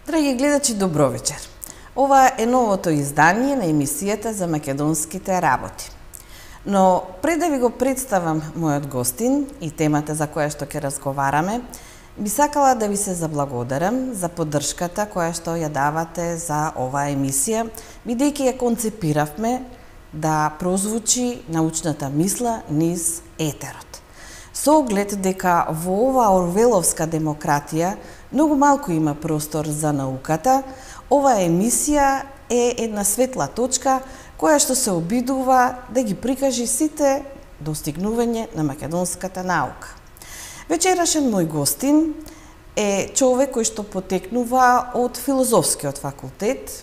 Драги гледачи, добро вечер. Ова е новото издание на емисијата за македонските работи. Но пред да ви го представам мојот гостин и темата за која што ќе разговараме, би сакала да ви се заблагодарам за поддршката која што ја давате за оваа емисија, бидејќи ја концепиравме да прозвучи научната мисла низ етерот. Со оглед дека во оваа орвеловска демократија многу малку има простор за науката, оваа емисија е една светла точка која што се обидува да ги прикажи сите достигнување на македонската наука. Вечерашен мој гостин е човек кој што потекнува од филозофскиот факултет,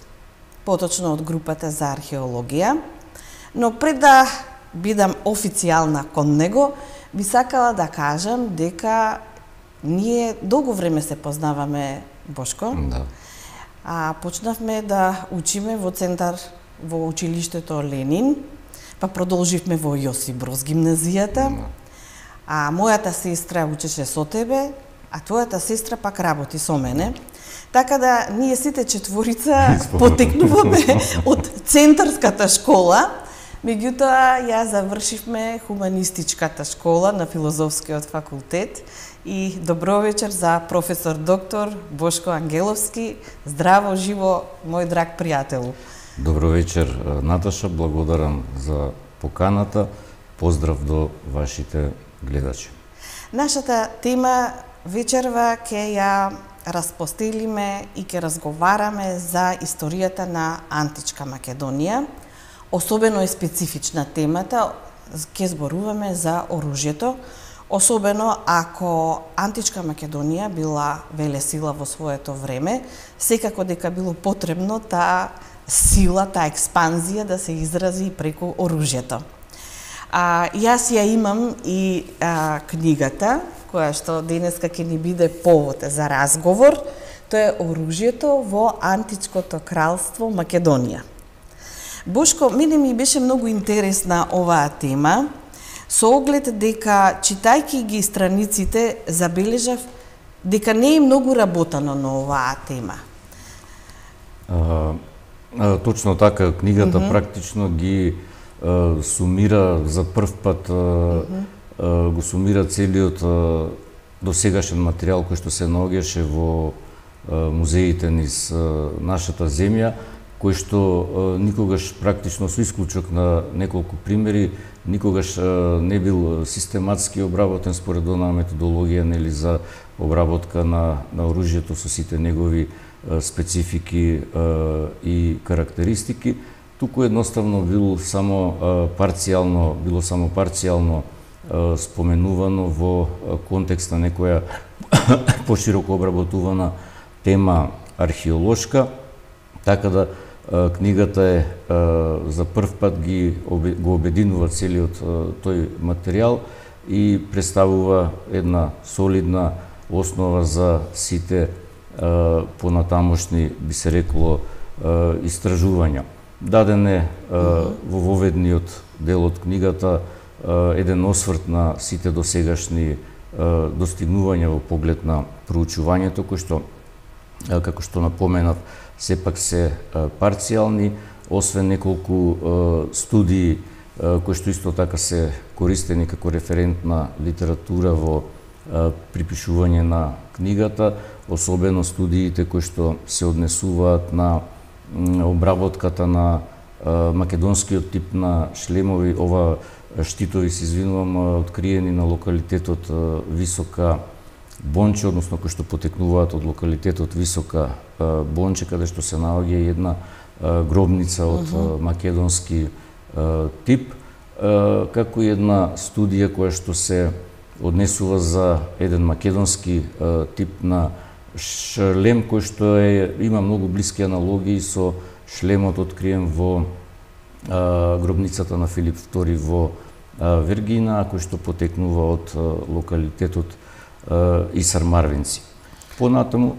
поточно од групата за археологија, но пред да бидам официјална кон него, би сакала да кажам дека ние долго време се познаваме, Бошко. Да. Почнавме да учиме во центар во училиштето Ленин, па продолживме во Јосип Броз гимназијата. Мојата сестра учеше со тебе, а твојата сестра пак работи со мене. Така да ние сите четворица потекнуваме од центарската школа. Меѓутоа, ја завршивме хуманистичката школа на филозофскиот факултет и добро вечер за професор доктор Бошко Ангеловски. Здраво, живо, мој драг пријателу. Добро вечер, Наташа, благодарам за поканата. Поздрав до вашите гледачи. Нашата тема вечерва ќе ја распостелиме и ќе разговараме за историјата на античка Македонија. Особено е специфична темата, ќе зборуваме за оружјето, особено ако античка Македонија била велесила во своето време, секако дека било потребно таа сила, таа експанзија да се изрази преку оружјето. Јас ја имам и книгата, која што денеска ќе ни биде повод за разговор, тоа е Оружјето во античкото кралство Македонија. Бошко, мене ми беше многу интересна оваа тема, со оглед дека, читајќи ги страниците, забележав дека не е многу работено на оваа тема. Точно така, книгата практично ги сумира за прв пат, го сумира целиот досегашен материјал кој што се наоѓаше во музеите низ нашата земја, кој што никогаш практично со исклучок на неколку примери, никогаш не бил систематски обработен според онаа методологија нели за обработка на оружјето со сите негови специфики и карактеристики, туку едноставно било само парцијално споменувано во контекст на некоја пошироко обработувана тема археолошка, така да книгата е за прв пат го обединува целиот тој материјал и представува една солидна основа за сите понатамошни, би се рекло, истражувања. Даден е во воведниот дел од книгата еден осврт на сите досегашни достигнувања во поглед на проучувањето, кој што, како што напоменав, сепак се парцијални, освен неколку студии кои што исто така се користени како референтна литература во припишување на книгата, особено студиите кои што се однесуваат на обработката на македонскиот тип на шлемови, ова штитови, се извинувам, откриени на локалитетот Висока Бонче, односно кои што потекнуваат од локалитетот Висока Бонче, каде што се наоѓа една гробница од македонски тип, како и една студија која што се однесува за еден македонски тип на шлем кој што има многу блиски аналогии со шлемот откриен во гробницата на Филип II во Вергина, кој што потекнува од локалитетот Исар Марвинци. Понатаму...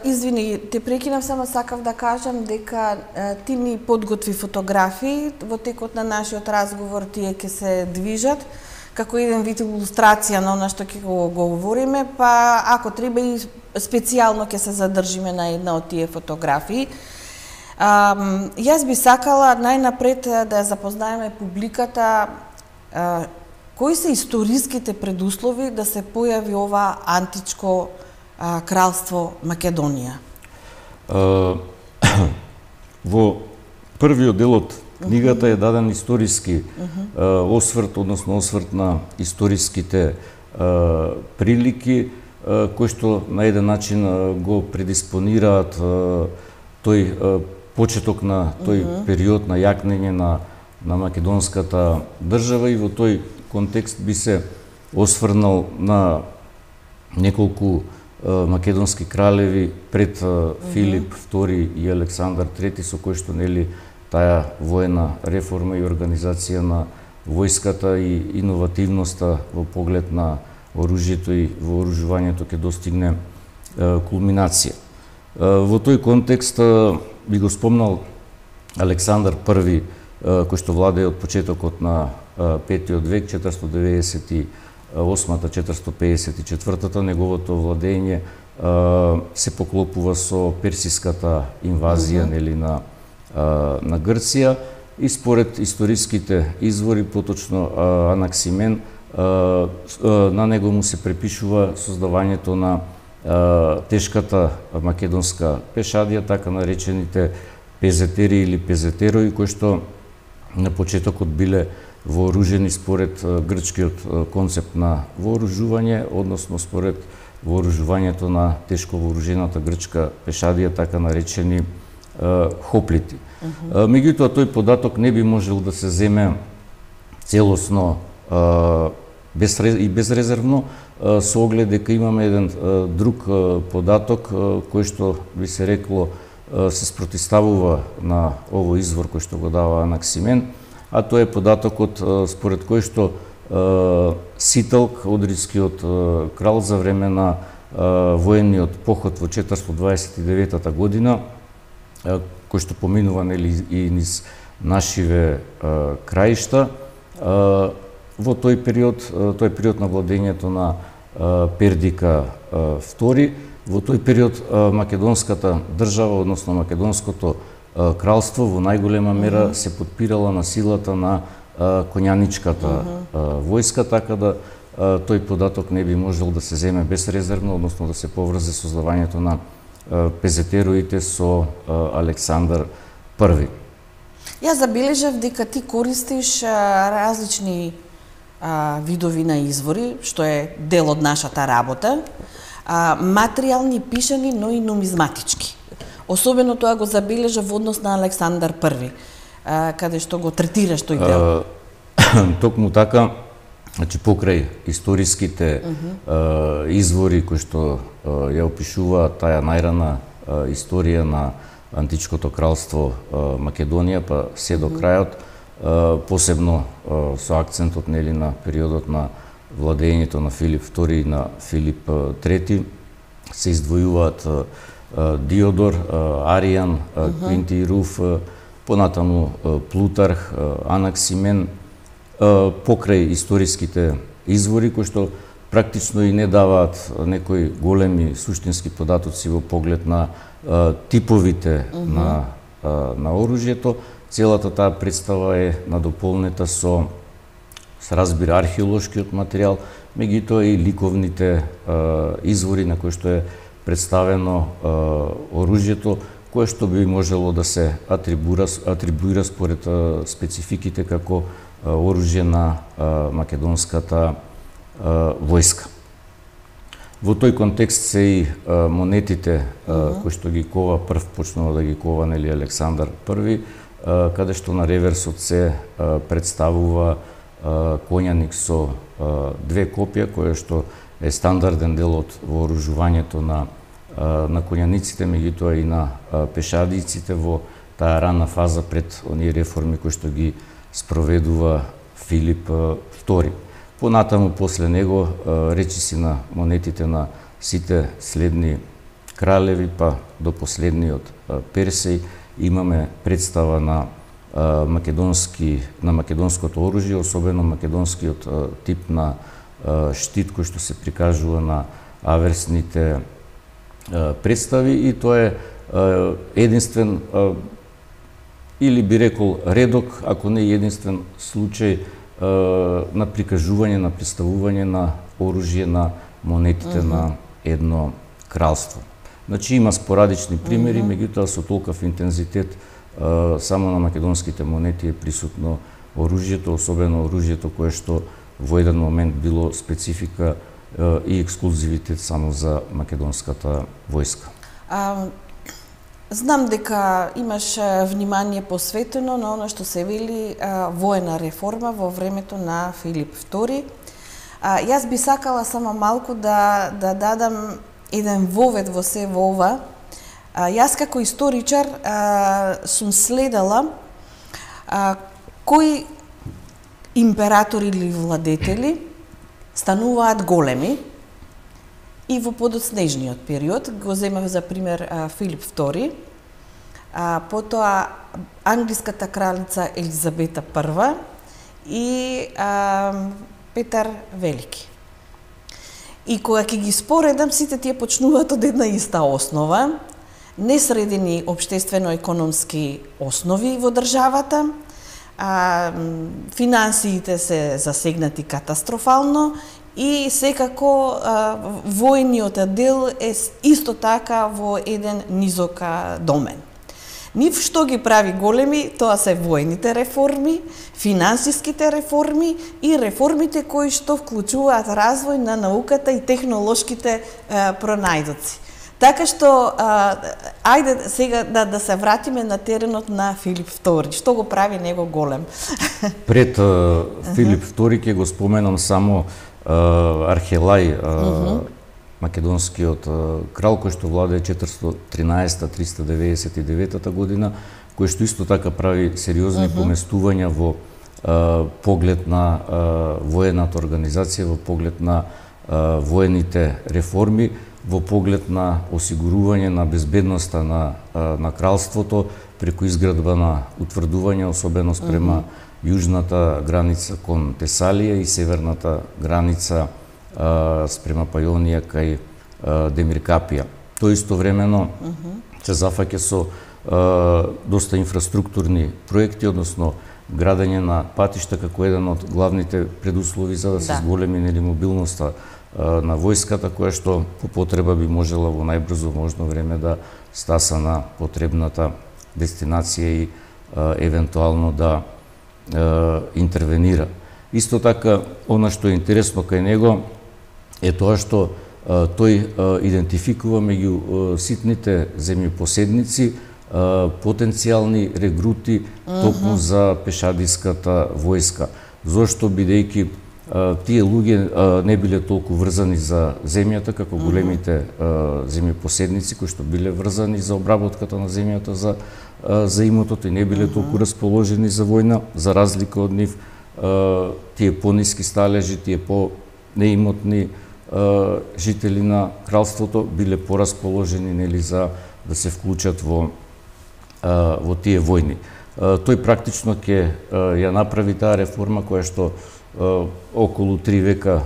Извини, те прекинав, само сакав да кажам дека ти ни подготви фотографии, во текот на нашиот разговор тие ќе се движат, како еден вид илустрација на она што ќе го говориме, па ако треба и специјално ќе се задржиме на една од тие фотографии. Јас би сакала најнапред да ја запознаеме публиката кои се историските предуслови да се појави ова античко кралство Македонија. Во првиот дел од книгата е даден историски осврт, односно осврт на историските прилики, кои што на еден начин го предиспонираат тој почеток на тој период на јакнење на македонската држава, и во тој контекст би се осврнал на неколку македонски кралеви пред Филип II и Александар III, со кои што нели таа воена реформа и организација на војската и иновативноста во поглед на оружјето и вооружувањето ќе достигне кулминација. Во тој контекст би го спомнал Александар I, кој што владее од почетокот на 5-тиот век, 498-454, неговото владење се поклопува со персиската инвазија нели на Грција, и според историските извори, поточно Анаксимен, на него му се препишува создавањето на тешката македонска пешадија, така наречените пезетери или пезетерои, кои што на почетокот биле вооружени според грчкиот концепт на вооружување, односно според вооружувањето на тешко вооружената грчка пешадија, така наречени хоплити. Меѓутоа, тој податок не би можел да се земе целосно и безрезервно, со оглед дека имаме еден друг податок кој што би се рекло се спротиставува на овој извор кој што го дава Анаксимен, а тоа е податокот според кој што Ситалк, одрискиот крал за време на воениот поход во 429 година, кој што поминува нели и низ нашиве краишта, во тој период на владењето на Пердика II, во тој период македонската држава, односно македонското кралство, во најголема мера се подпирала на силата на конјаничката војска, така да тој податок не би можел да се земе безрезервно, односно да се поврзе создавањето на пезетероите со Александар I. Јас забележав дека ти користиш различни видови на извори, што е дел од нашата работа, материјални, пишани, но и нумизматички. Особено тоа го забележав во однос на Александар I, каде што го третираш тој дел. Токму така, значи покрај историските извори кои што ја опишуваат таа најрана историја на античкото кралство Македонија, па се до крајот, посебно со акцентот нели на периодот на владењето на Филип II и на Филип III, се издвојуваат Диодор, Аријан, Квинти Руф, понатаму Плутарх, Анаксимен, покрај историските извори кои што практично и не даваат некои големи суштински податоци во поглед на типовите на оружјето. Целата таа представа е надополнета со разбира археолошкиот материјал, меѓутоа и ликовните извори на кои што е представено оружјето, кое што би можело да се атрибуира според спецификите како оружје на македонската војска. Во тој контекст се и монетите кои што ги кова, прв почнува да ги кова нели Александар I, каде што на реверсот се представува конјаник со две копија, која што е стандарден дел од вооружувањето на конјаниците, меѓутоа и на пешадиците во таа рана фаза пред оние реформи кои што ги спроведува Филип II. Понатаму после него речиси на монетите на сите следни кралеви, па до последниот Персеј, имаме представа на на македонското оружје, особено македонскиот тип на штит кој што се прикажува на аверсните представи, и тоа е единствен или би рекол редок, ако не единствен случај на прикажување, на представување на оружје на монетите на едно кралство. Значи има спорадични примери, меѓутоа со толков интензитет само на македонските монети е присутно оружјето, особено оружјето кое што во еден момент било специфика и ексклузивитет само за македонската војска. Знам дека имаш внимание посветено на оно што се вели воена реформа во времето на Филип II. Јас би сакала само малку да дадам еден вовед во се во ова. Јас како историчар сум следела кои императори или владетели стануваат големи и во подоцнежниот период. Го земав за пример Филип II, потоа англиската кралица Елизабета I и Петар Велики. И кога ќе ги споредам, сите тие почнуваат од една иста основа, несредени општествено-економски основи во државата, финансиите се засегнати катастрофално и секако војниот дел е исто така во еден низок домен. Нив што ги прави големи, тоа се војните реформи, финансиските реформи и реформите кои што вклучуваат развој на науката и технолошките пронајдоци. Така што, ајде сега да се вратиме на теренот на Филип II. Што го прави него голем? Пред Филип II ќе го споменам само Архелај, македонскиот крал, кој што владее 413-399 година, кој што исто така прави сериозни поместувања во поглед на воената организација, во поглед на воените реформи, во поглед на осигурување на безбедноста на кралството преку изградба на утврдување, особено спрема јужната граница кон Тесалија и северната граница спрема Пајонија кај Демиркапија. Тој истовремено се зафаќа со доста инфраструктурни проекти, односно градење на патишта како еден од главните предуслови за да се зголеми мобилноста на војската, која што по потреба би можела во најбрзо можно време да стаса на потребната дестинација и евентуално да интервенира. Исто така, она што е интересно кај него е тоа што тој идентификува меѓу ситните земјопоседници потенцијални регрути токму за пешадиската војска. Зошто, бидејќи тие луѓе не биле толку врзани за земјата како големите земјопоседници кои што биле врзани за обработката на земјата за имотот и не биле толку расположени за војна, за разлика од нив тие пониски сталежи, тие по-неимотни жители на кралството биле порасположени нели за да се вклучат во тие војни. Тој практично ќе ја направи таа реформа која што околу 3 века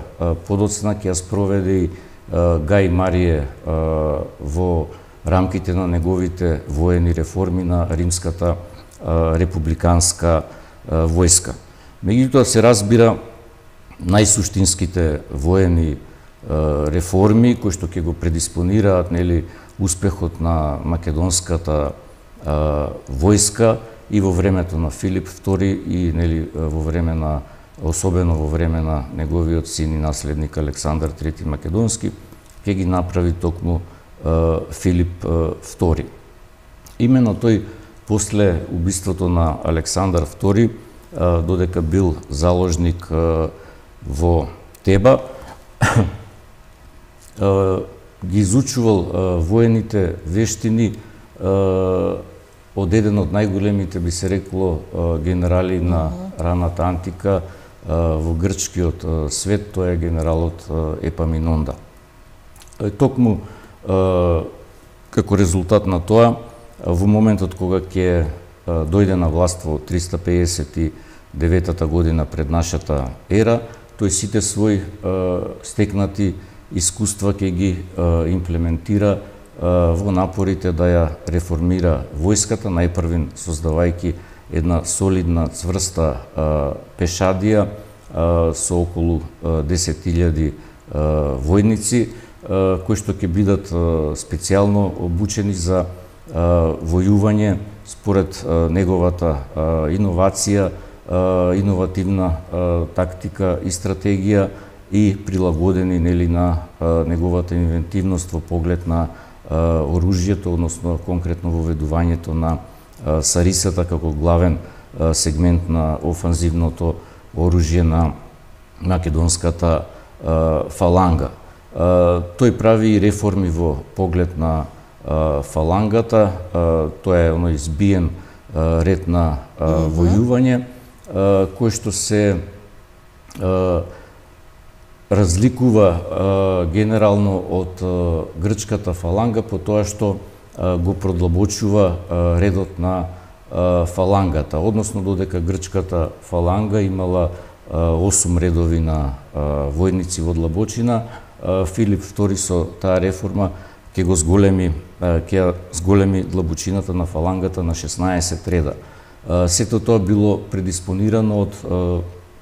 подоцна ќе ја спроведе и Гај Марие во рамките на неговите воени реформи на римската републиканска војска. Меѓутоа се разбира најсуштинските воени реформи кои што ќе го предиспонираат нели успехот на македонската војска и во времето на Филип II и нели во време на особено во време на неговиот син и наследник Александар III Македонски, ќе ги направи токму Филип II. Именно тој после убиството на Александар II, додека бил заложник во Теба, ги изучувал воените вештини од еден од најголемите, би се рекло, генерали на раната антика во грчкиот свет, тоа е генералот Епаминонда. Токму како резултат на тоа, во моментот кога ќе дојде на власт во 359 година пред нашата ера, тој сите своји стекнати искуства ќе ги имплементира во напорите да ја реформира војската, најпрвин создавајќи една солидна, цврста пешадија со околу 10.000 војници, кои што ќе бидат специјално обучени за војување според неговата иновација, иновативна тактика и стратегија и прилагодени на неговата инвентивност во поглед на оружјето, односно конкретно воведувањето на сарисата како главен сегмент на офанзивното оружје на македонската фаланга. Тој прави и реформи во поглед на фалангата, тоа е оној збиен ред на војување, кој што се разликува генерално од грчката фаланга по тоа што го продлабочува редот на фалангата, односно додека грчката фаланга имала 8 редови на војници во длабочина, Филип II со таа реформа ќе зголеми длабочината на фалангата на 16 реда. Сето тоа било предиспонирано од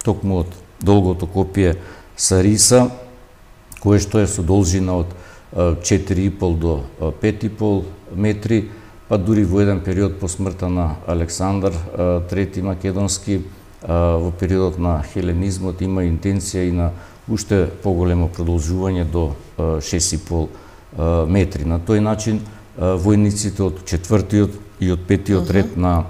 токму од долгото копие сариса, кое што е со должина од 4,5 до 5,5 метри, па дури во еден период по смртта на Александар III Македонски, во периодот на хеленизмот има интенција и на уште поголемо продолжување до 6,5 метри. На тој начин војниците од 4-тиот и од 5-тиот ред на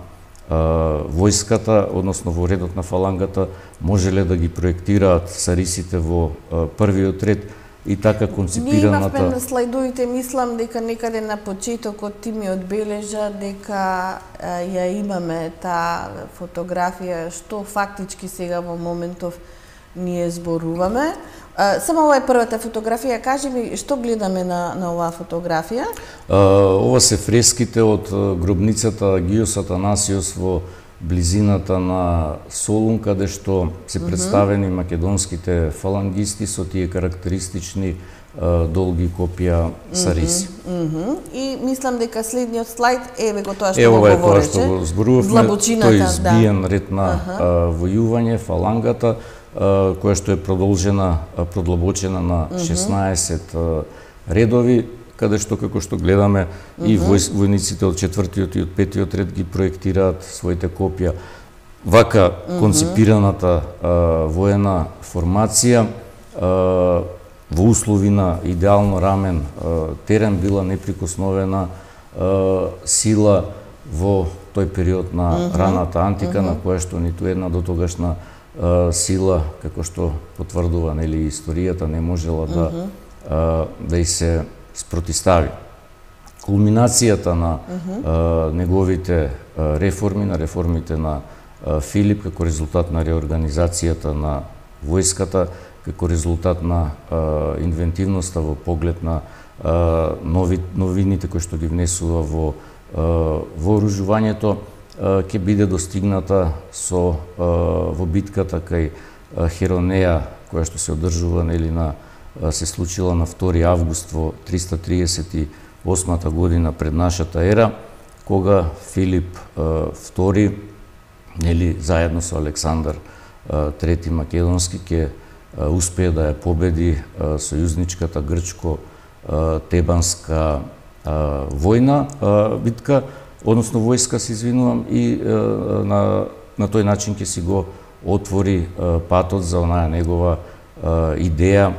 војската, односно во редот на фалангата, можеле да ги проектираат сарисите во првиот ред и така конципираната... Ние имавме на слайдовите, мислам дека некаде на почетокот ти ми одбележа дека ја имаме таа фотографија, што фактички сега во моментов ние зборуваме. Само ова е првата фотографија, кажи ми што гледаме на оваа фотографија? Ова се фреските од гробницата Гиос Атанасиос во близината на Солун, каде што се представени македонските фалангисти со тие карактеристични долги копија сариси. И мислам дека следниот слайд еве го тоа што го говореше. Тоа што го зборувавме, тој збиен ред на војување, фалангата, која што е продлабочена на 16 редови, каде што, како што гледаме, и војниците од 4-тиот и од 5-тиот ред ги проектираат своите копија. Вака конципираната воена формација во услови на идеално рамен терен била неприкосновена сила во тој период на раната антика, на која што ниту една дотогашна сила, како што потврдува историјата, не можела да и се спротистави. Кулминацијата на неговите реформи, на реформите на Филип, како резултат на реорганизацијата на војската, како резултат на инвентивноста во поглед на новините кои што ги внесува во вооружувањето, ќе биде достигната во битката кај Херонеја, која што се одржува се случила на 2 август во 338 година пред нашата ера, кога Филип II, заедно со Александар III Македонски, ќе успее да ја победи сојузничката грчко-тебанска битка, односно войска, се извинувам, и на тој начин ќе си го отвори патот за онаа негова идеја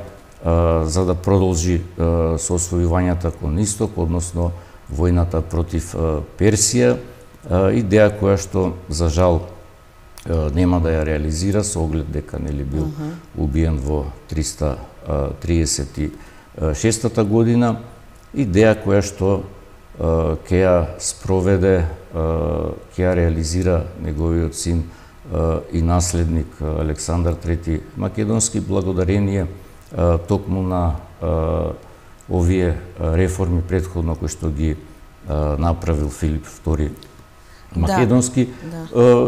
за да продолжи со освојувањата кон исток, односно војната против Персија, идеја која што за жал нема да ја реализира со оглед дека бил убиен во 336 година, идеја која што ќе ја спроведе, ќе ја реализира неговиот син и наследник Александар III Македонски, благодарение токму на овие реформи претходно кои што ги направил Филип II македонски,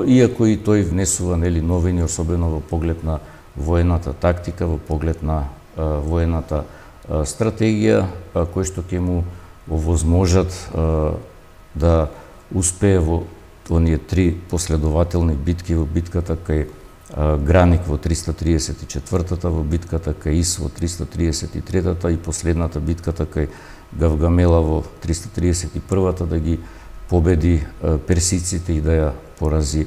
иако и тој внесува новини, особено во поглед на воената тактика, во поглед на воената стратегија, кои што ќе му овозможат да успее во оние 3 последователни битки, во битката кај Граник во 334-та, во битката кај Ис во 333-та и последната битката кај Гавгамела во 331-та, да ги победи персиците и да ја порази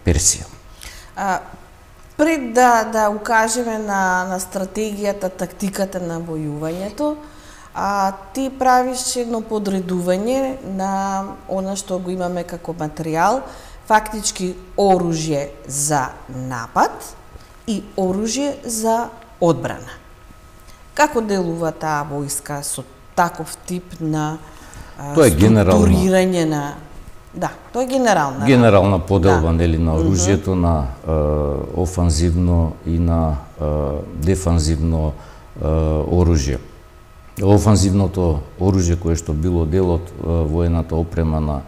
Персија. Пред да укажеме на стратегијата, тактиката на војувањето, ти правиш едно подредување на она што го имаме како материјал, фактички оружје за напад и оружје за одбрана. Како делува таа војска со таков тип на структурирање на... Да, тоа е генерална. Генерална поделба, на оружјето, на офанзивно и на дефанзивно оружје. Офанзивното оружје кое што било дел од воената опрема на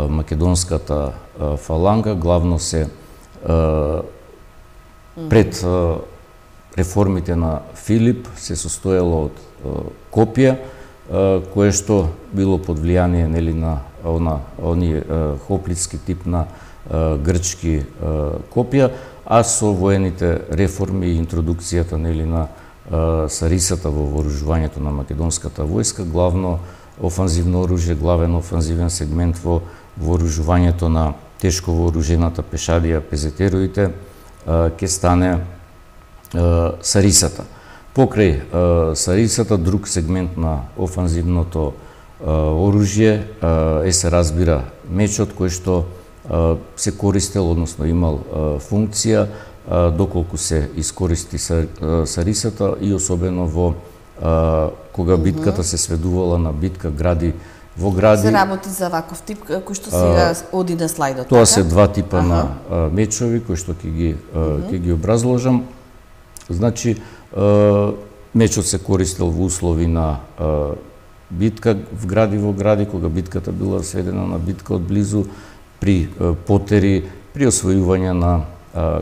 македонската фаланга, главно се пред реформите на Филип се состоело од копија, кое што било под влијание на оние хоплитски тип на грчки копија, а со воените реформи и интродукцијата на сарисата во вооружувањето на македонската војска, главно офанзивно оружје, главен офанзивен сегмент во вооружувањето на тешко вооружената пешадија, пезетероите, ќе стане сарисата. Покрај сарисата, друг сегмент на офанзивното оружје се разбира мечот, кој што се користел, односно имал функција, доколку се искористи сарисата и особено во кога битката се сведувала на битка гради во гради. Се работи за ваков тип кој што сега оди на слайдот. Тоа се 2 типа на мечови кои што ќе ги образложам. Значи мечот се користел во услови на битка во гради, кога битката била сведена на битка од близу, при потери, при освојување на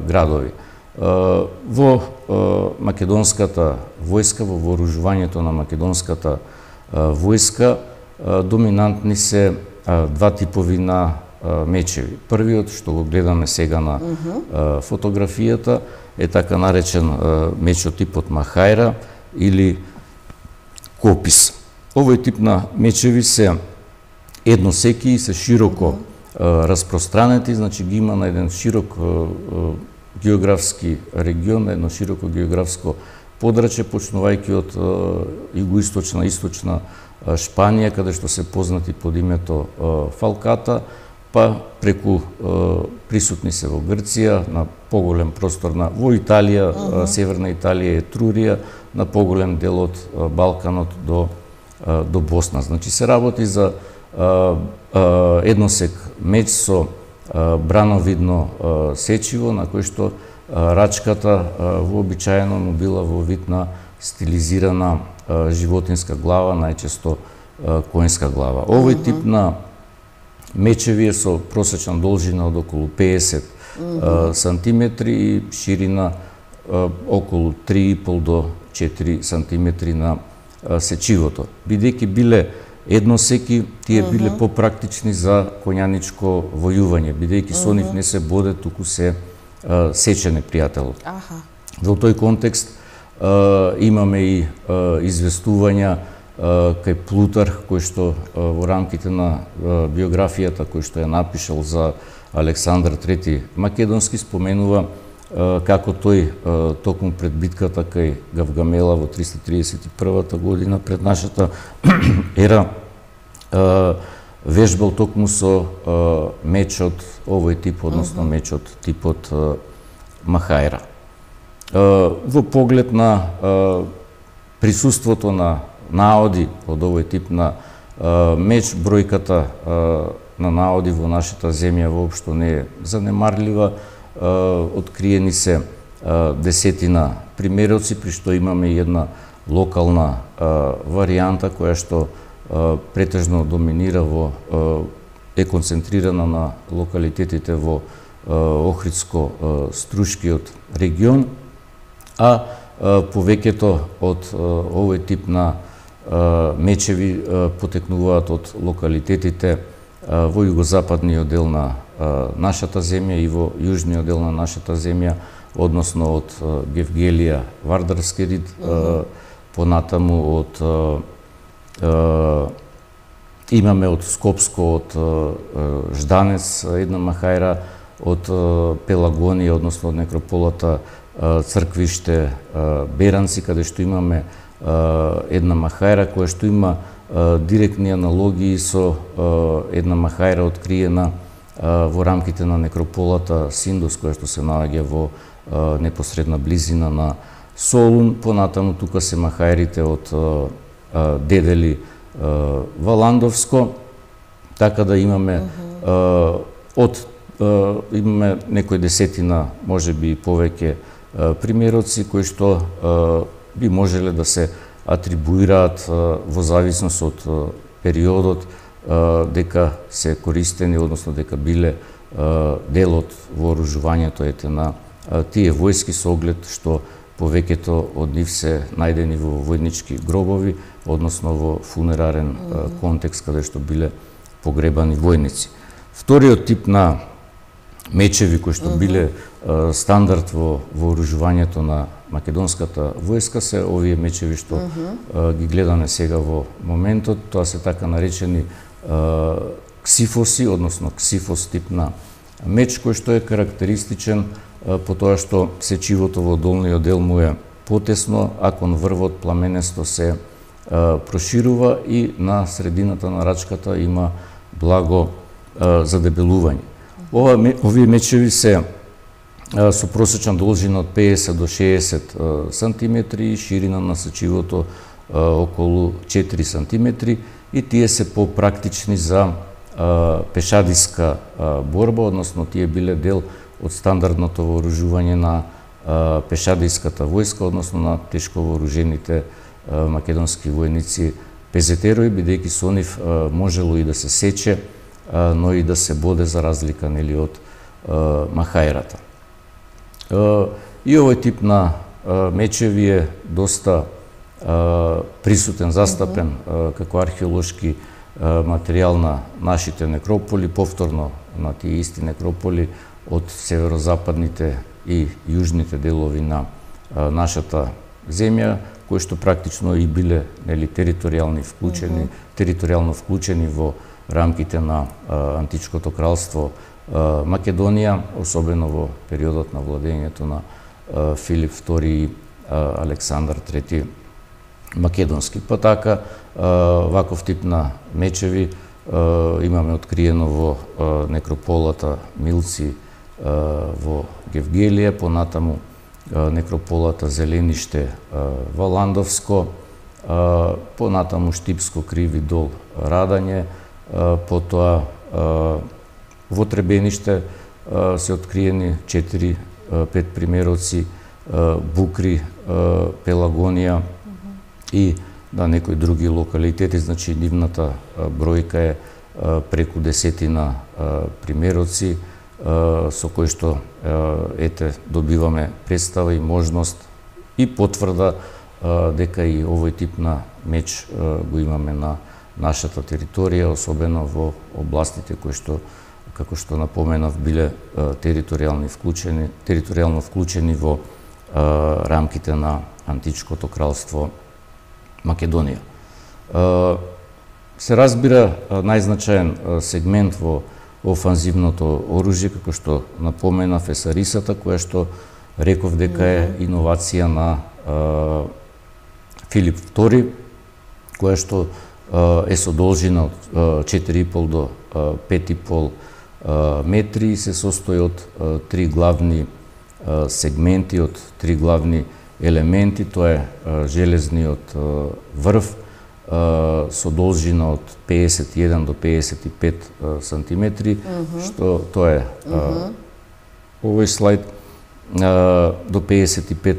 градови. Во македонската војска, во вооружувањето на македонската војска, доминантни се 2 типови на мечеви. Првиот, што го гледаме сега на фотографијата, е така наречен мечот типот Махајра или Копис. Овој тип на мечеви се едносеки и се широко распространети, значи ги има на еден широк географски регион, едно широко географско подрачје, почнувајќи од југоисточна, источна Шпанија, каде што се познати под името Фалката, па преку присутни се во Грција, на поголем простор во Италија, северна Италија, Етрурија, на поголем дел од Балканот до Босна. Значи се работи за едносек меч со брановидно сечиво, на кој што рачката вообичаено му била во вид на стилизирана животинска глава, најчесто коњска глава. Овој тип на мечеви е со просечна должина од околу 50 сантиметри и ширина околу 3,5 до 4 сантиметри на сечивото. Бидејќи биле едносеки, тие биле попрактични за коњаничко војување, бидејќи со нив не се боде, туку се сече непријателот. Во тој контекст имаме и известувања кај Плутарх, кој што во рамките на биографијата кој што ја напишал за Александар III Македонски споменува како тој токму пред битката кај Гавгамела во 331 година пред нашата ера вежбал токму со мечот овој тип, односно мечот типот Махајра. Во поглед на присуството на наоди од овој тип на меч, бројката на наоди во нашата земја воопшто не е занемарлива. Откриени се десетина примероци, при што имаме и една локална варијанта која што претежно доминира во е концентрирана на локалитетите во Охридско-Струшкиот регион, а повеќето од овој тип на мечеви потекнуваат од локалитетите во југозападниот дел на нашата земја и во јужниот дел на нашата земја, односно од Гевгелија, Вардарски рид, понатаму од имаме од Скопско, од Жданец една махајра, од Пелагонија, односно од некрополата Црквиште, Беранци, каде што имаме една махајра која што има директни аналогии со една махајра откриена во рамките на некрополата Синдос, која што се наоѓа во непосредна близина на Солун. Понатаму тука се махајрите од Дедели, Валандовско, така да имаме имаме некои десетина, можеби и повеќе примероци кои што би можеле да се атрибуираат во зависност од периодот дека се користени, односно дека биле дел од вооружувањето на тие војски, со оглед што повеќето од нив се најдени во војнички гробови, односно во фунерарен контекст каде што биле погребани војници. Вториот тип на мечеви кои што биле стандард во вооружувањето на македонската војска се овие мечеви што ги гледаме сега во моментот. Тоа се така наречени ксифоси, односно ксифос тип на меч, кој што е карактеристичен по тоа што сечивото во долниот дел му е потесно, а кон врвот пламенесто се проширува и на средината на рачката има благо задебелување. Овие мечеви се со просечна должина од 50 до 60 сантиметри и ширина на сечивото околу 4 сантиметри, и тие се попрактични за пешадиска борба, односно тие биле дел од стандардното вооружување на пешадиската војска, односно на тешко вооружените македонски војници пезетерои, бидејќи со нив можело и да се сече, но и да се боде, за разлика од махајрата. И овој тип на мечеви е доста присутен, застапен како археолошки материјал на нашите некрополи, повторно на тие исти некрополи од северозападните и јужните делови на нашата земја, кои што практично и биле територијално вклучени во рамките на античкото кралство Македонија, особено во периодот на владењето на Филип II и Александар III Македонски. Па така, ваков тип на мечеви имаме откриено во некрополата Милци во Гевгелија, понатаму некрополата Зелениште Валандовско, понатаму Штипско Криви дол Радање, потоа во Требениште се откриени 4-5 примероци, Букри, Пелагонија и на некои други локалитети, значи нивната бројка е преку десетина примероци, со кои што добиваме представа и можност и потврда дека и овој тип на меч го имаме на нашата територија, особено во областите кои што, како што напоменав, биле територијално вклучени во рамките на античкото кралство Македонија. Се разбира, најзначаен сегмент во офанзивното оружје, како што напоменав, е сарисата, која што реков дека е иновација на Филип II, која што е со должина од 4,5 до 5,5 метри и се состои од три главни сегменти, од три главни елементи. Тоа е железниот врв со должина од 51 до 55 сантиметри, што тоа е овој слайд, до 55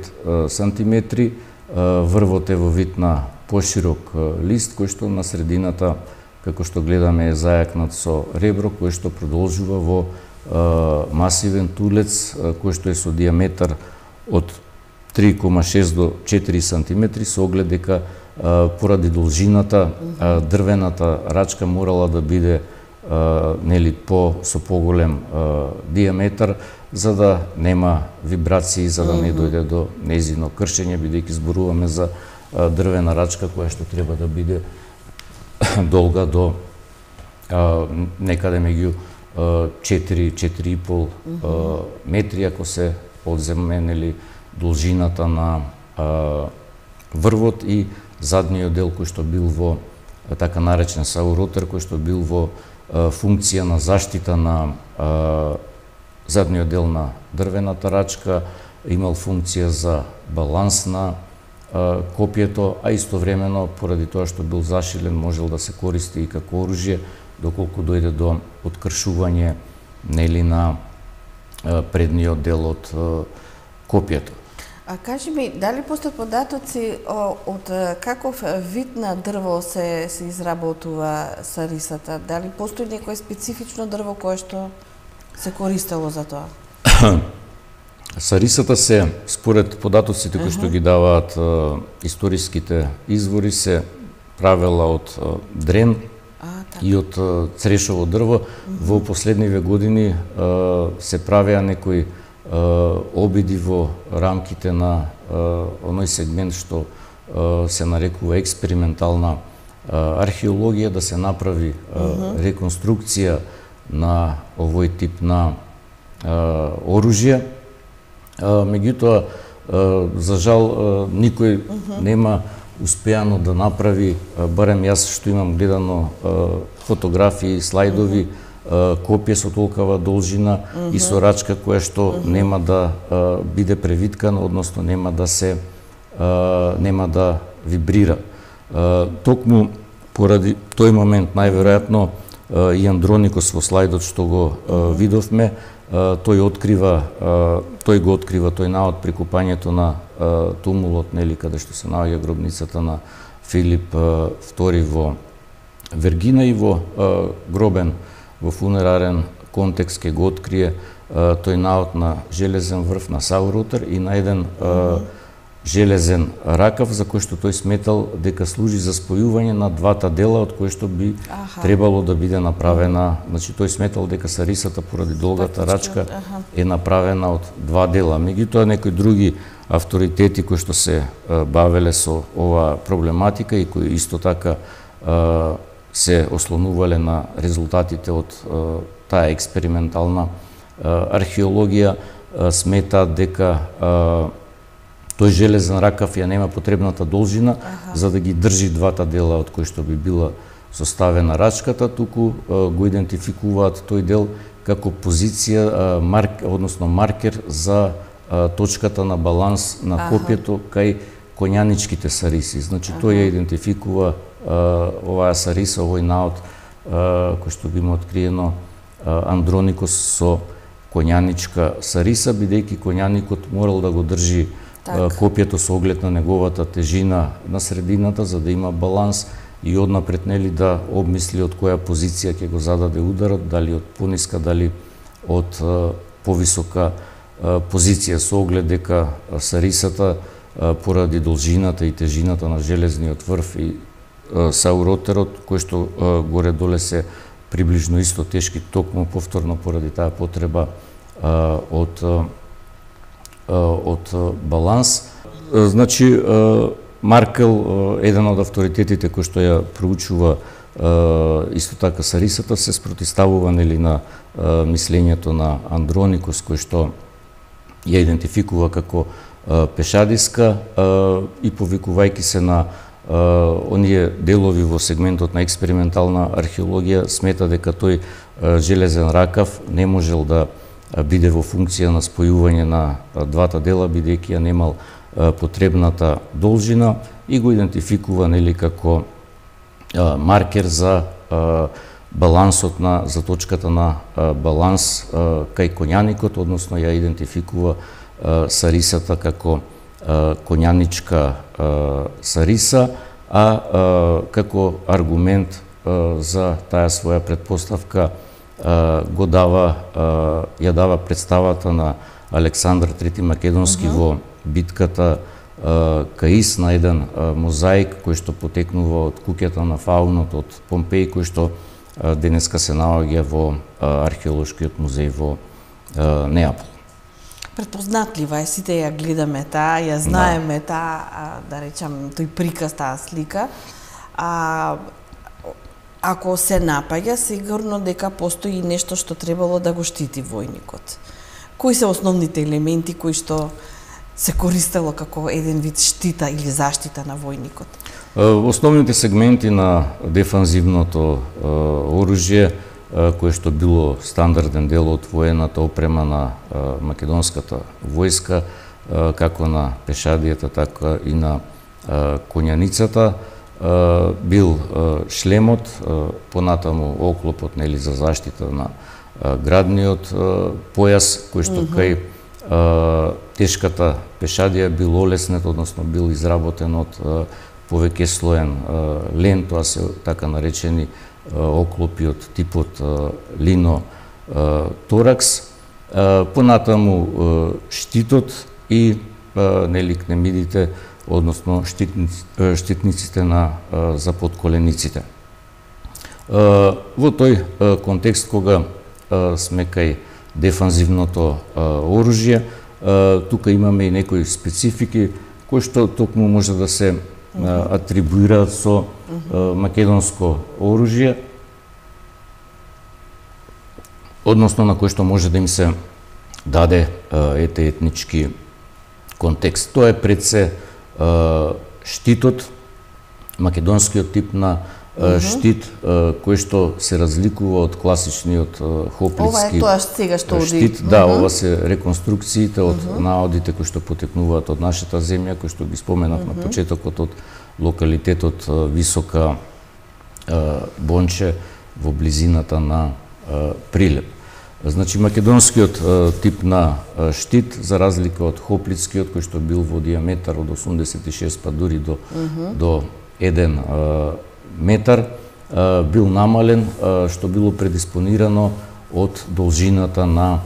сантиметри. Врвот е во вид на поширок лист, кој што на средината како што гледаме е зајакнат со ребро кој што продолжува во масивен тулец кој што е со диаметар од 3,6 до 4 сантиметри, со оглед дека поради должината дрвената рачка морала да биде нели со поголем диаметар, за да нема вибрации, за да не дојде до нејзино кршење, бидејќи зборуваме за дрвена рачка која што треба да биде долга до некаде меѓу 4-4,5 метри, ако се одземе нели должината на врвот и задниот дел кој што бил во така наречен сауротер, кој што бил во функција на заштита на задниот дел на дрвената рачка, имал функција за баланс на копието, а истовремено поради тоа што бил зашилен можел да се користи и како оружје доколку дојде до откршување нели на предниот дел од копието. А кажи ми, дали постојат податоци од каков вид на дрво се изработува сарисата? Дали постои некое специфично дрво кое што се користело за тоа? Сарисата се, според податоците кои што ги даваат историските извори, се правела од дрен и од црешово дрво. Во последниве години се правеа некои обиди во рамките на оној сегмент што се нарекува експериментална археологија, да се направи реконструкција на овој тип на оружје. Меѓутоа, за жал, никој нема успеано да направи, барем јас што имам гледано фотографии, слайдови, копие со толкова должина и со рачка која што нема да биде превиткана, односно нема да вибрира. Токму поради тој момент најверојатно и Андроникос во слайдот што го видовме, тој го открива тој наод при купањето на тумулот, нели, каде што се наоѓа гробницата на Филип II во Вергина, и во гробен во фунерарен контекст ке го открие тој наод на железен врв на сауротер и на еден железен ракав, за кој што тој сметал дека служи за спојување на двата дела од кои што би требало да биде направена. Значи тој сметал дека сарисата поради долгата рачка е направена од два дела. Меѓутоа некои други авторитети кои што се бавеле со оваа проблематика и кои исто така се ослонувале на резултатите од таа експериментална археологија, сметаат дека тој железен ракав ја нема потребната должина за да ги држи двата дела од кои што би била составена рачката, туку го идентификуваат тој дел како позиција, односно маркер за точката на баланс на копието кај коњаничките сариси. Значи тој ја идентификува оваа сариса, овој наод кој што би му откриено Андроникос со коњаничка сариса, бидејќи коњаникот морал да го држи копието со оглед на неговата тежина на средината, за да има баланс и однапред нели да обмисли од која позиција ќе го зададе ударот, дали од пониска, дали од повисока позиција, со оглед дека сарисата поради должината и тежината на железниот врв и сауротерот, кој што горе-доле се приближно исто тешки, токму повторно поради таа потреба од баланс. Значи, Маркел, еден од авторитетите кој што ја проучува исто така сарисата, се спротиставува нели на мислењето на Андроникос, кој што ја идентификува како пешадиска и повикувајќи се на оние делови во сегментот на експериментална археологија, смета дека тој железен ракав не можел да биде во функција на спојување на двата дела, бидејќи ја немал потребната должина, и го идентификува нели како маркер за балансот за точката на баланс кај коњаникот, односно ја идентификува сарисата како коњаничка сариса, а како аргумент за таа своја предпоставка ја дава представата на Александар III Македонски во битката кај Ис, на еден мозаик кој што потекнува од куќата на фаунот од Помпеј, кој што денеска се наоѓа во археолошкиот музеј во Неапол. Предпознатлива е, сите ја гледаме таа, ја знаеме таа, да речам, тој приказ, таа слика. Ако се напаѓа, сигурно дека постои нешто што требало да го штити војникот. Кои се основните елементи кои што се користело како еден вид штита или заштита на војникот? Основните сегменти на дефанзивното оружје, кое што било стандарден дел од воената опрема на македонската војска, како на пешадијата, така и на коњаницата, бил шлемот, понатаму оклопот, нели, за заштита на градниот појас, кој што кај тешката пешадија бил олеснет, односно бил изработен од повеќе слоен лен, тоа се така наречени оклопи од типот лино торакс, понатаму штитот и нели кнемидите, односно штитниците за подколениците. Во тој контекст, кога сме кај дефанзивното оружје, тука имаме и некои специфики кои што токму може да се атрибуираат со македонско оружје, односно на кој што може да им се даде етнички контекст. Тоа е пред се штитот, македонскиот тип на штит, кој што се разликува од класичниот хоплитски ова е тоа сега што штит. Да, ова се реконструкциите од наодите кои што потекнуваат од нашата земја, кои што ги споменав на почетокот, од локалитетот Висока Бонче во близината на Прилеп. Значи, македонскиот тип на штит, за разлика од хоплитскиот, кој што бил во диаметар од 86 па дури до 1 метар, бил намален, што било предиспонирано од должината на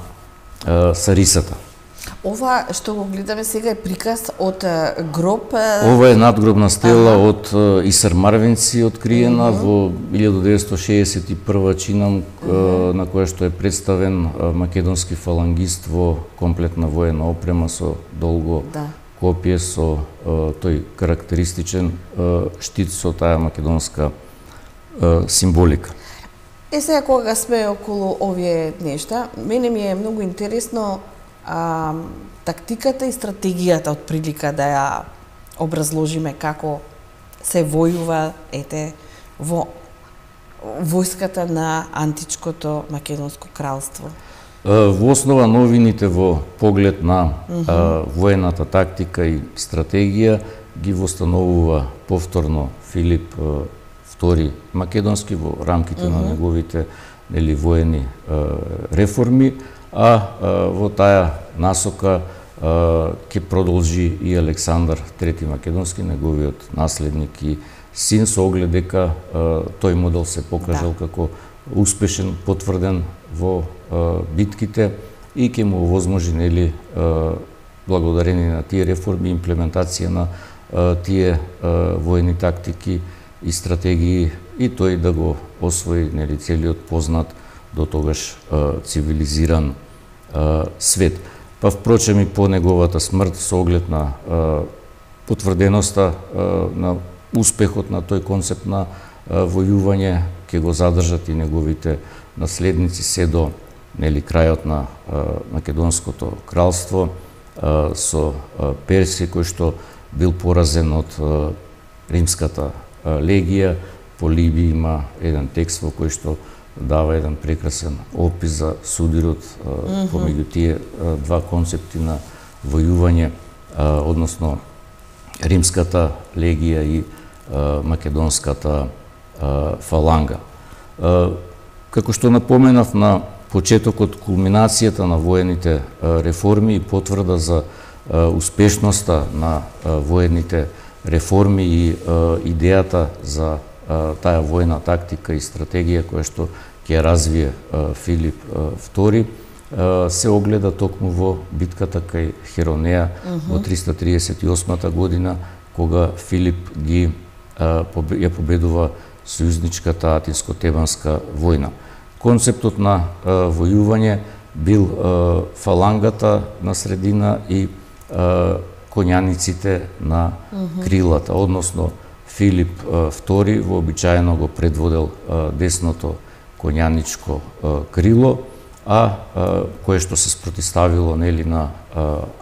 сарисата. Ова што го гледаме сега е приказ од гроб. Ова е надгробна стела од Исар Марвинци, откриена во 1961 чинам, на која што е представен македонски фалангист во комплетна воена опрема со долго копие, со тој карактеристичен штит со таа македонска символика. Сега кога сме околу овие нешта, мене ми е многу интересно тактиката и стратегијата од прилика да ја образложиме како се војува во војската на античкото македонско кралство. Во основа новините во поглед на воената тактика и стратегија ги востановува повторно Филип II Македонски во рамките на неговите воени реформи, а во таа насока ќе продолжи и Александар III Македонски, неговиот наследник и син, со оглед дека тој модел се покажал како успешен, потврден во битките и ќе му овозможи, благодарение на тие реформи, имплементација на тие воени тактики и стратегии, и тој да го освои целиот познат до тогаш цивилизиран свет. Па впрочем и по неговата смрт, со оглед на потврденоста на успехот на тој концепт на војување, ќе го задржат и неговите наследници се до крајот на Македонското кралство со Персија, кој што бил поразен од римската легија. Полиби има еден текст во кој што дава еден прекрасен опис за судирот помеѓу тие два концепти на војување, односно римската легија и македонската фаланга. Како што напоменав на почетокот, кулминацијата на воените реформи и потврда за успешноста на воените реформи и идејата за таа војна тактика и стратегија која што ќе развие Филип II се огледа токму во битката кај Херонеа во 338 година, кога Филип ја победува сојузничката Атинско-Тебанска војна. Концептот на војување бил фалангата на средина и коњаниците на крилата, односно Филип II вообичаено го предводел десното коњаничко крило, кое што се спротиставило нели на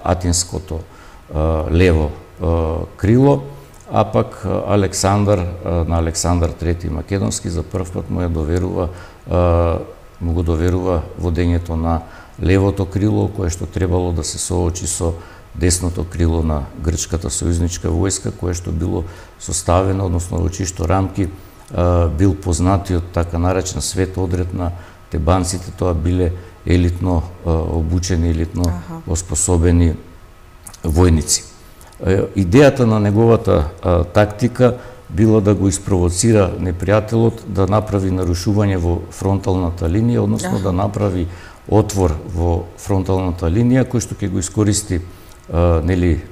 атинското лево крило, а пак Александар на Александар III Македонски за прв пат му го доверува водењето на левото крило, кое што требало да се соочи со десното крило на грчката сојузничка војска, кое што било составено, односно во чишто рамки бил познатиот така наречен свет одред на тебанците. Тоа биле елитно обучени, елитно оспособени војници. Идејата на неговата тактика била да го испровоцира непријателот да направи нарушување во фронталната линија, односно да направи отвор во фронталната линија кој што ќе го искористи нели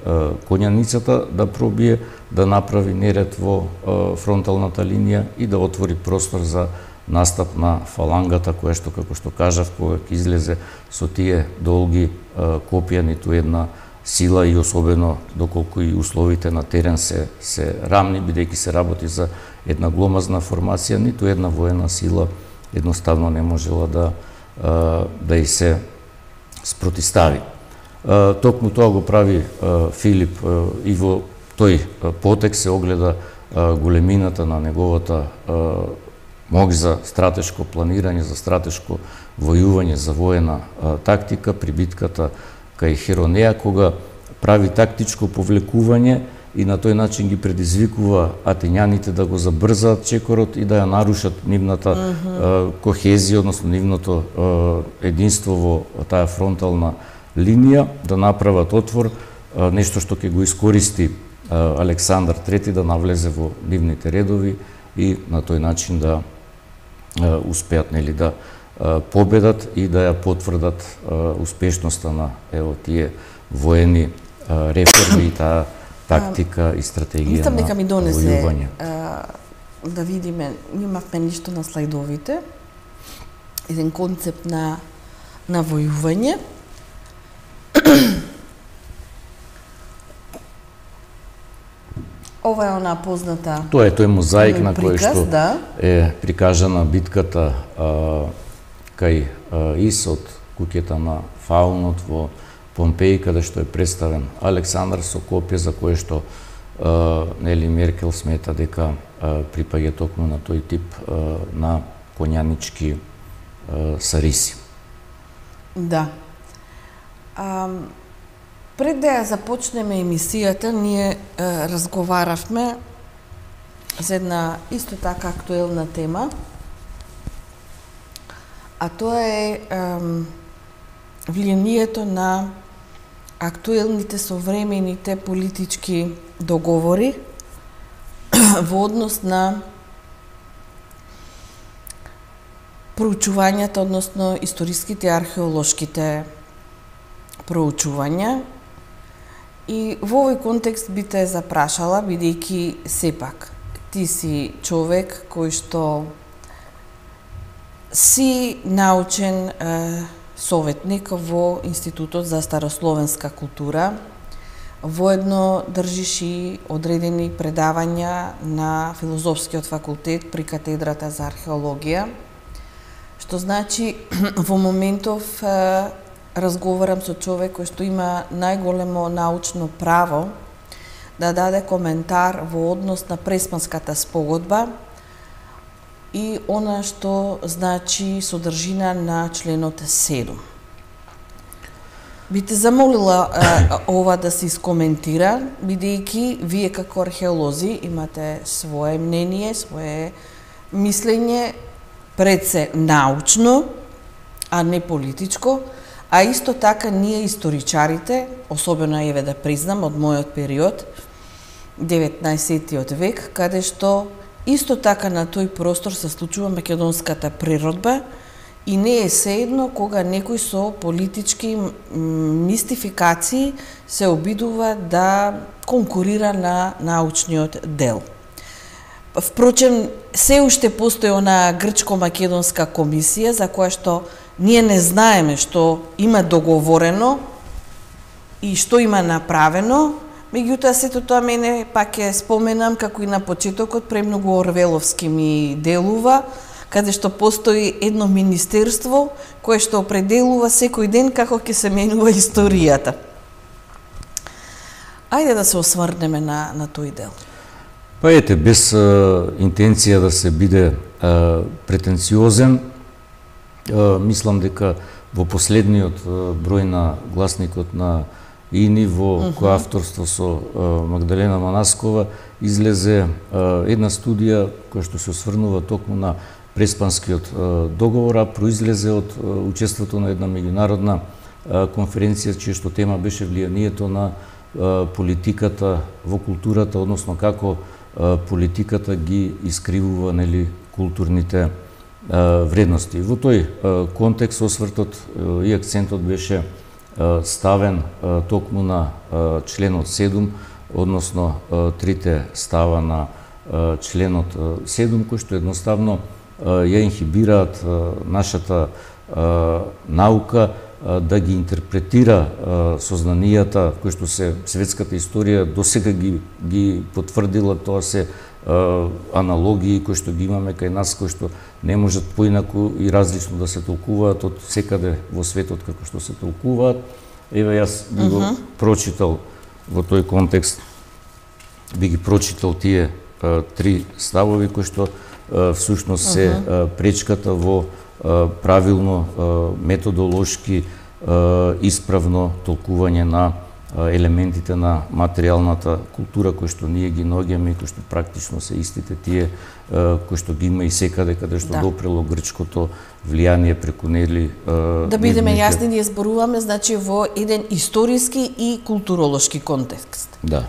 коњаницата да пробие да направи неред во фронталната линија и да отвори простор за настап на фалангата, која што, како што кажав, кога ќе излезе со тие долги копија, ниту една сила, и особено доколку и условите на терен се рамни, бидејќи се работи за една гломазна формација, ниту една воена сила едноставно не можела да и се спротистави. Токму тоа го прави Филип и во тој потек се огледа големината на неговата моќ за стратешко планирање, за стратешко војување, за воена тактика при битката кај Херонеа, кога прави тактичко повлекување и на тој начин ги предизвикува атињаните да го забрзаат чекорот и да ја нарушат нивната кохезија, односно нивното единство во таа фронтална линија, да направат отвор, нешто што ќе го искористи Александар III да навлезе во нивните редови и на тој начин да успеат нели да победат и да ја потврдат успешноста на тие воени реформи и таа тактика и стратегија на дека ми донесе војување. Да видиме, имавме нешто на слайдовите, еден концепт на војување. Ова е она позната... Тоа е тој мозаик на кој што да, е прикажана битката кај Ис од куќата на Фаунот во Помпеи, каде што е представен Александар со копие за кое што Нели Меркел смета дека припаѓа токму на тој тип на коњанички сариси. Да. Пред да ја започнеме емисијата, ние разговаравме за една исто така актуелна тема, а тоа е влијанието на актуелните современите политички договори во однос на проучувањата, односно историските и археолошките проучувања. И во овој контекст би те запрашала, бидејќи сепак ти си човек кој што си научен советник во Институтот за старословенска култура, воедно држиш и одредени предавања на Филозофскиот факултет при катедрата за археологија, што значи во моментов разговарам со човек кој што има најголемо научно право да даде коментар во однос на Преспанската спогодба и она што значи содржина на членот 7. Би те замолила ова да се искоментира, бидејќи вие како археолози имате свое мнение, свое мислење, пред се научно, а не политичко, а исто така ние историчарите, особено еве да признам од мојот период, 19. век, каде што исто така на тој простор се случува македонската природба и не е seедно кога некој со политички мистификации се обидува да конкурира на научниот дел. Впрочем, се уште постои она грчко-македонска комисија за која што ние не знаеме што има договорено и што има направено. Меѓутоа, сето тоа мене пак ќе споменам, како и на почетокот, премногу орвеловски ми делува, каде што постои едно министерство кое што определува секој ден како ќе се менува историјата. Ајде да се осврнеме на тој дел. Па ете, без интенција да се биде претенциозен, мислам дека во последниот број на гласникот на ИНИ во кој авторство со Магдалена Манаскова излезе една студија која што се осврнува токму на Преспанскиот договор, а произлезе од учеството на една меѓународна конференција чија што тема беше влијанието на политиката во културата, односно како политиката ги искривува, нели, културните вредности. Во тој контекст освртот и акцентот беше ставен токму на членот 7, односно трите става на членот 7, кои што едноставно ја инхибираат нашата наука да ги интерпретира сознанијата кои што се светската историја досега ги потврдила. Тоа се аналогии кои што ги имаме кај нас, кои што не можат поинаку и различно да се толкуваат од секаде во светот како што се толкуваат. Еве, јас би го прочитал во тој контекст, би ги прочитал тие три ставови кои што всушност се пречката во правилно, методолошки, исправно толкување на елементите на материјалната култура кои што ние ги наоѓаме и кои што практично се истите тие кои што ги има и секаде каде што допрело грчкото влијание преку нели. Да бидеме јасни, ние зборуваме значи во еден историски и културолошки контекст. Да.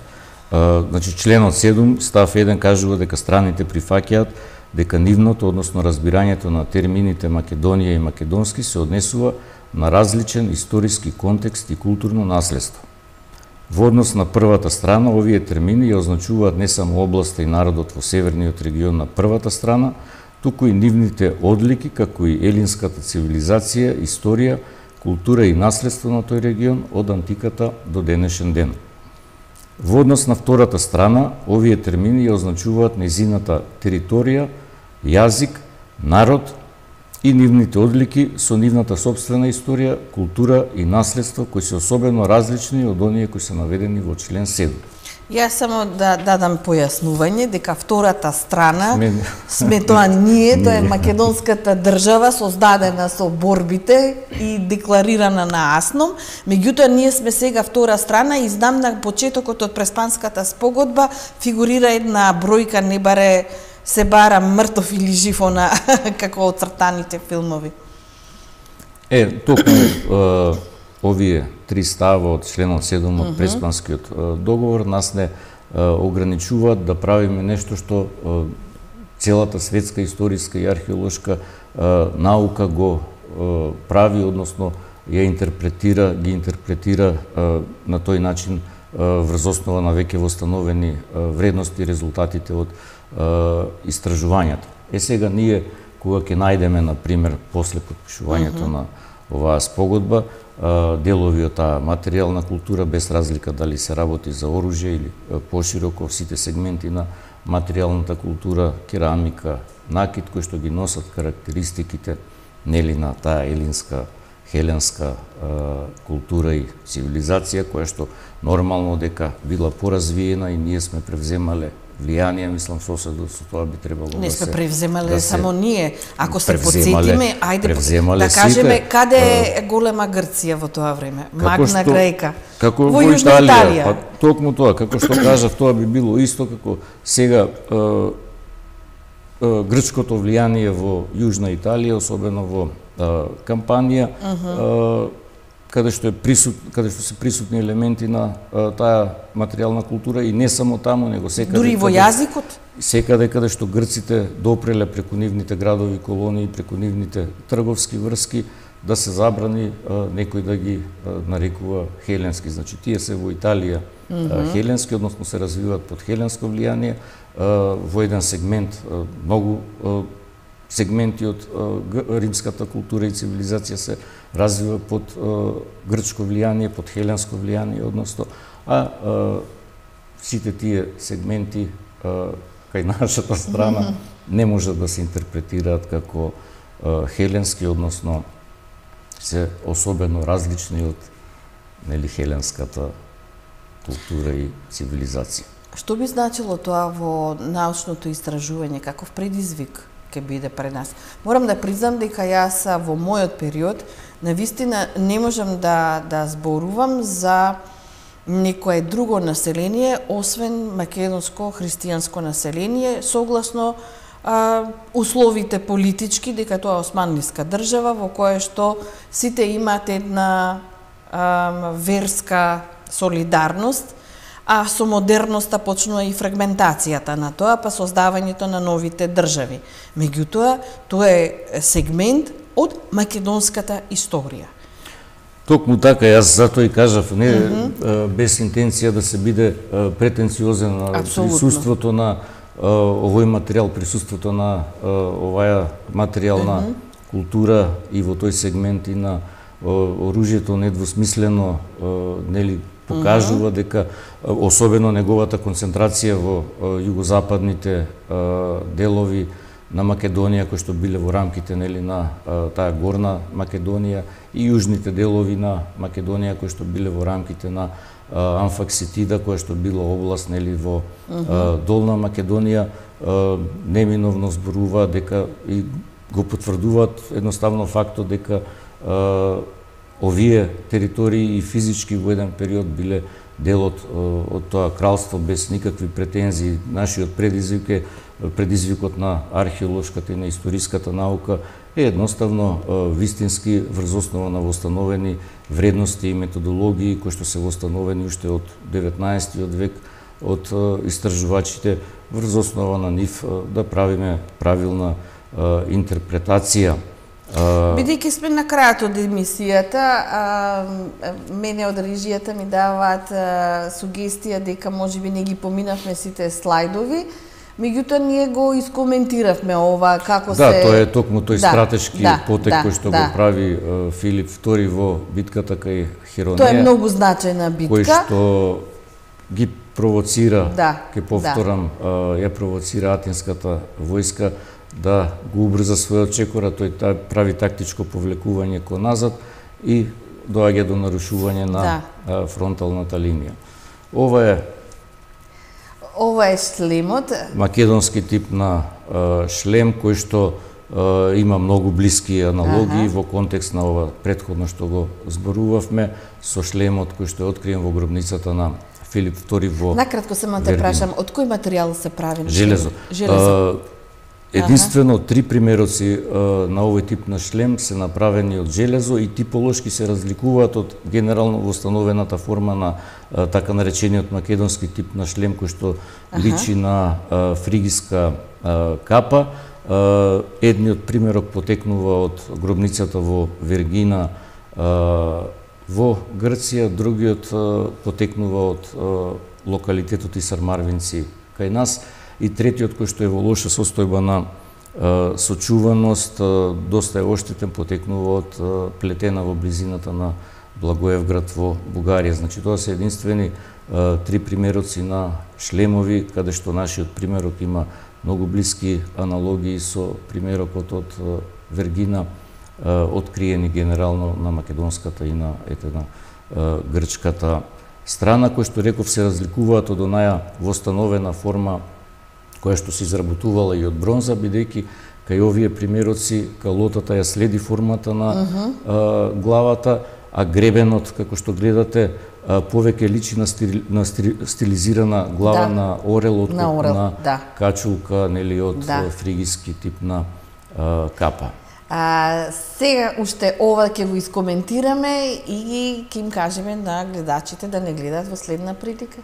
Значи членот 7 став 1 кажува дека страните прифаќаат дека нивното, односно разбирањето на термините Македонија и македонски се однесува на различен историски контекст и културно наследство. Во однос на првата страна, овие термини ја означуваат не само областа и народот во северниот регион на првата страна, туку и нивните одлики, како и елинската цивилизација, историја, култура и наследство на тој регион од антиката до денешен ден. Во однос на втората страна, овие термини ја означуваат незината територија, јазик, народ и нивните одлики со нивната сопствена историја, култура и наследство кои се особено различни од оние кои се наведени во член 7. Јас само да дадам појаснување дека втората страна сме тоа ние, тоа е македонската држава создадена со борбите и декларирана на Асном. Меѓутоа ние сме сега втора страна и знам на почетокот од Преспанската спогодба фигурира една бројка, не баре се бара мртов или жив она како оцртаните филмови. Токму овие три става од членот 7 од Преспанскиот договор нас не ограничуваат да правиме нешто што целата светска историска и археолошка наука го прави, односно ја ги интерпретира на тој начин врз основа на веќе востановени вредности и резултатите од истражувањата. Сега ние кога ќе најдеме, например, после подпишувањето на оваа спогодба, делови од таа материјална култура, без разлика дали се работи за оружје или пошироко сите сегменти на материјалната култура, керамика, накит, кои што ги носат карактеристиките нели на таа елинска, хеленска култура и цивилизација, која што нормално дека била поразвиена и ние сме превземале влијание, мислам, соседот со тоа би требало не сме превземале да само ние. Ако се потсетиме, ајде да кажеме каде е голема Грција во тоа време. Магна Грека. Како во Италија. Па токму тоа, како што кажав, тоа би било исто како сега грчкото влијание во Јужна Италија, особено во Кампанија, каде што се присутни елементи на таа материјална култура и не само таму, него секаде. Дури во јазикот? Секаде каде што грците допреле преку нивните градови, колонии, преку нивните трговски врски, да се забрани некој да ги нарекува хеленски. Значи, тие се во Италија хеленски, односно се развиваат под хеленско влијание, во еден сегмент, многу сегменти од римската култура и цивилизација се развива под грчко влијание, под хеленско влијание, односно, сите тие сегменти кај нашата страна не можат да се интерпретираат како хеленски, односно се особено различни од хеленската култура и цивилизација. Што би значило тоа во научното истражување, каков предизвик ќе биде пред нас? Морам да признам дека јас во мојот период навистина не можам да зборувам за некое друго население, освен македонско христијанско население, согласно условите политички, дека тоа е османлиска држава во која што сите имаат една верска солидарност, а со модерноста почнува и фрагментацијата на тоа, па создавањето на новите држави. Меѓутоа, тоа е сегмент од македонската историја. Токму така, јас затоа и кажав, не без интенција да се биде претенциозен на присуството на овој материјал, присуството на оваа материјална култура и во тој сегмент и на оружјето недвосмислено покажува дека особено неговата концентрација во југозападните делови на Македонија, кои што биле во рамките на таа горна Македонија, и јужните делови на Македонија, кои што биле во рамките на Амфакситида, која што била област во долна Македонија, неминовно зборува дека и го потврдуваат едноставно фактот дека овие територии и физички во еден период биле дел од тоа кралство без никакви претензии. Нашиот предизвикот на археолошката и на историската наука е едноставно вистински врз основа на востановени вредности и методологии кои што се востановени уште од 19 век од истражувачите, врз основа на нив да правиме правилна интерпретација. Бидејќи сме на крајот од емисијата, мене од режијата ми даваат сугестија дека можеби не ги поминавме сите слайдови, меѓутоа ние го искоментиравме ова како се... Да, тоа е токму тој стратешки потек кој што го прави Филип II во битката кај Херонеја. Тоа е многу значајна битка. Кој што ги провоцира, ке повторам, ја провоцира атинската војска да го убрза својот чекор, тој прави тактичко повлекување кон назад и доаѓа до нарушување на фронталната линија. Ова е шлемот. Македонски тип на шлем кој што има многу блиски аналогии во контекст на ова претходно што го зборувавме со шлемот кој што е откриен во гробницата на Филип II во Накратко само те прашам, од кој материјал се прави? Железо. Единствено 3 примероци на овој тип на шлем се направени од железо и типолошки се разликуваат од генерално востановената форма на така наречениот македонски тип на шлем кој што личи на фригиска капа. Едниот примерок потекнува од гробницата во Вергина во Грција, другиот потекнува од локалитетот Исар Марвинци кај нас, и третиот кој што е во лоша состојба на сочуваност, доста е оштетен, потекнува од плетена во близината на Благоевград во Бугарија. Значи тоа се единствени 3 примероци на шлемови, каде што нашиот примерок има многу блиски аналогии со примерокот од Вергина, откриени генерално на македонската и на грчката страна, кои што реков се разликуваат од онаја востановена форма која што се изработувала и од бронза, бидејќи кај овие примероци калотата ја следи формата на главата, а гребенот, како што гледате, повеќе личи на стилизирана глава на орел, отколку на качулка, од фригиски тип на капа. Сега уште ова ќе го искоментираме и ќе им кажеме на гледачите да не гледаат во следна прилика.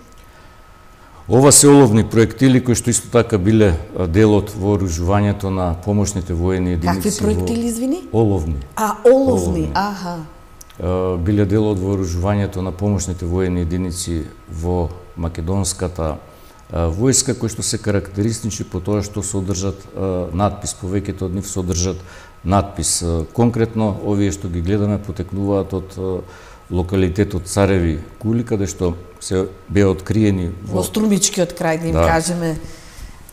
Ова се оловни проектили кои што исто така биле дел од вооружувањето на помошните воени единици. Какви проектили, извини? Оловни. Оловни, аха. Биле дел од вооружувањето на помошните воени единици во македонската војска, кои што се карактеристични по тоа што содржат надпис, повеќето од нив содржат надпис. Конкретно, овие што ги гледаме потекнуваат од локалитетот Цареви кули, каде што се беа откриени во Струмичкиот крај, да им кажеме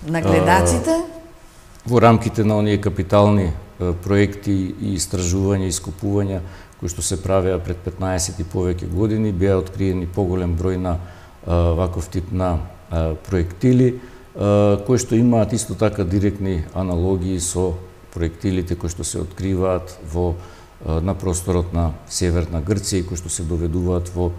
на гледачите. Во рамките на оние капитални проекти и истражувања и искупувања кои што се правеа пред 15 и повеќе години, беа откриени поголем број на ваков тип на проектили, кои што имаат исто така директни аналогии со проектилите кои што се откриваат на просторот на Северна Грција и кои што се доведуваат во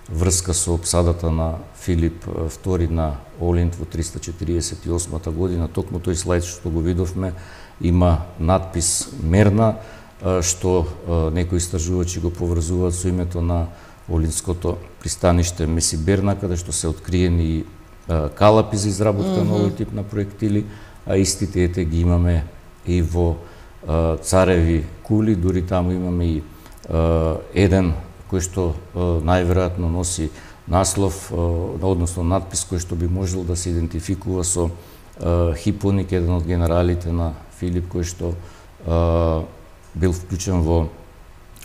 врска со опсадата на Филип II на Олинт во 348 година. Токму тој слајд што го видовме има надпис Мерна, што некои истражувачи го поврзуваат со името на Олинското пристаниште Месиберна, каде што се откриени калапи за изработка на овој тип на проектили, а истите ги имаме и во Цареви кули, дури таму имаме и еден кој што најверојатно носи наслов, односно надпис кој што би можел да се идентификува со Хипоник, еден од генералите на Филип, кој што бил вклучен во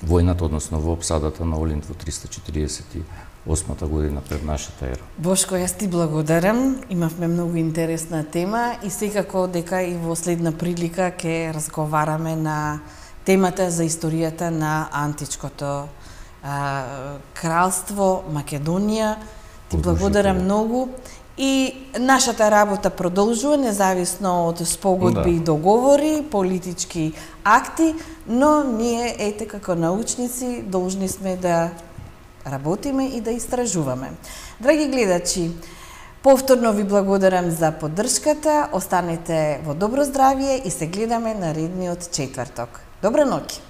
војната, односно во опсадата на Олинт во 348 година пред нашата ера. Бошко, јас ти благодарам. Имавме многу интересна тема и секако дека и во следна прилика ќе разговараме на темата за историјата на античкото кралство Македонија. Ти благодарам многу. И нашата работа продолжува, независно од спогодби и договори, политички акти, но ние, ете, како научници, должни сме да работиме и да истражуваме. Драги гледачи, повторно ви благодарам за поддршката, останете во добро здравје и се гледаме наредниот четврток. Добра ноќ!